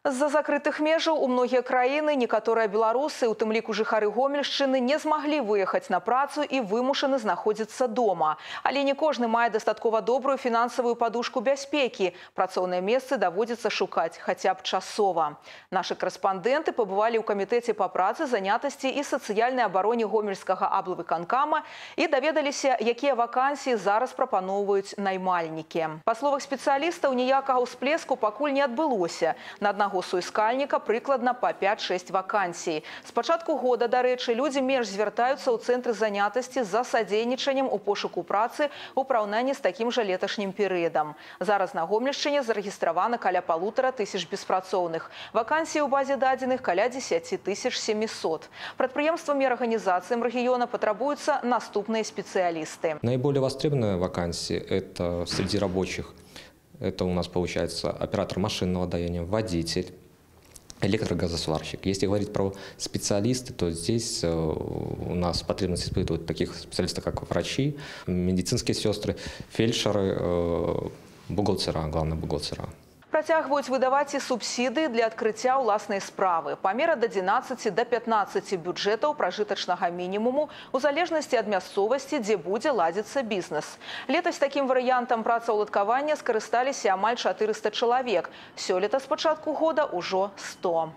З-за закрытых межаў у многія краіны некаторыя беларусы, у тым ліку жыхары Гомельшчыны, не змаглі выехаць на працу і вымушаны знаходзіцца дома. Але не кожны мае дастаткова добрую фінансавую падушку бяспекі. Працоўныя месцы даводзіцца шукаць хаця б часова. Нашы корэспандэнты пабывалі ў камітэце па працы, занятасці і сацыяльнай абароне гомельскага аблвыканкама і даведаліся, якія вакансіі зараз прапаноўваюць наймальнікі. Па словах спецыялістаў, ніякага ўсплеску пакуль не адбылося. На аднаго суіскальніка прыкладна па 5-6 вакансій. З пачатку года, дарэчы, людзі менш звяртаюцца ў цэнтры занятасці за садзейнічаннем у пошуку працы у параўнанні з такім жа леташнім перыядам. Зараз на Гомельшчыне зарэгістравана каля 1500 беспрацоўных. Вакансій у базе дадзеных каля 10 700. Прадпрыемствам і арганізацыям рэгіёна патрабуюцца наступныя спецыялісты. Наиболее востребованные вакансии – это среди рабочих. Это у нас получается оператор машинного даяния, водитель, электрогазосварщик. Если говорить про специалисты, то здесь у нас потребность испытывают таких специалистов, как врачи, медицинские сестры, фельдшеры, бухгалтера, главные бухгалтера. Працягваюць выдаваць і субсідыі для адкрыцця ўласнай справы. Памер ад 11 до 15 бюджэтаў пражытачнага мінімуму у залежнасці ад мясцовасці, дзе будзе ладзіцца бізнес. Летась такім варыянтам працаўладкавання скарысталіся амаль 400 чалавек. Сёлета з пачатку года ўжо 100.